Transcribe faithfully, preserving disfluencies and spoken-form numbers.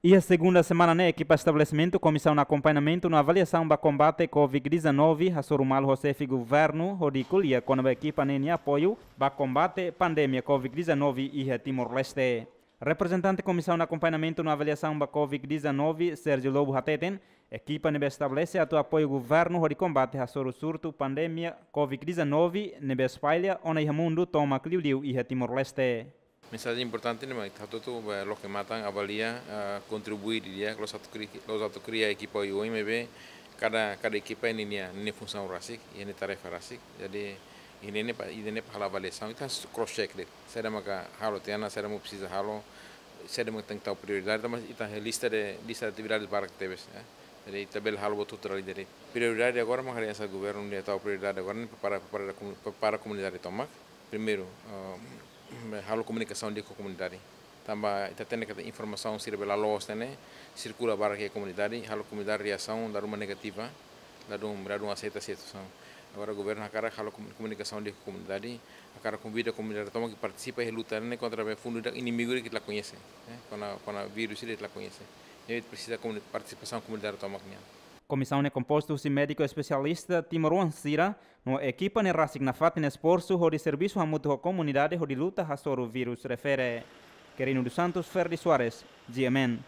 Iha segunda semana ne'e, ekipa estabelesimentu Komisaun Akompañamentu no Avaliasaun ba Kombate Covid dezanove hasoru malu ho xefe governu hodi ko'alia kona-ba ekipa ne'e nia apoiu ba kombate pandemia Covid dezanove iha Timor-Leste. Reprezentante Komisaun Akompañamentu no Avaliasaun ba Covid dezanove, Sérgio Lobo, hateten, ekipa ne'ebé estabelese atu apoiu governu hodi kombate hasoru surtu pandemia Covid dezanove ne'ebé espalla ona iha mundu tomak, liuliu iha Timor-Leste. Mensajen importante ne'e mak ita hotu-hotu, eh, loke matan, avalia, eh, kontribui didi'ak, la'ós atu kri-, la'ós atu kria ekipa oioin, maibé kada, kada ekipa iha ninia, ninia funsaun rasik, iha ninia tarefa rasik. Jadi, iha ne'e ne'e pa, iha ne'e ne'e pa halo avaliasaun, ita cross check de'it. Saida maka halo tiha ona, saida mak presiza halo, saida mak tenke tau prioridade, tanba ita lista de, lista de atividades barak tebes, eh. Jadi, ita bele halo buat hotu-hotu dala ida de'it. Prioridade agora mak hanesan governu ne'e tau prioridade agora ne'e prepara, prepara komu-, prepara komunidade tomak. Primeiru, eh, halo komunikasaun di'ak ho komunidade. Tanba ita hatene katak informasaun sira bele la'o, hatene, sirkula barak iha komunidade, halo komunidade reasaun dala ruma negativa, ladún, ladún aseita situasaun. Agora governu hakarak halo komu-, komunikasaun di'ak ho komunidade, hakarak konvida komunidade tomak atu partisipa iha luta ne'e kontra be fundu ida inimigu ida ke ita la koñese, eh, kona, kona vírus ida ke ita la koñese. Ne'e presiza komuni-, partisipasaun komunidade tomak nian. Komisaun ne'e kompostu husi médiku espesialista timoroan sira, no ekipa ne'e rasik nafatin esforsu hodi servisu hamutuk ho komunidade hodi luta hasoru vírus refere. Quirino dos Santos, Ferdi Soares, G M N.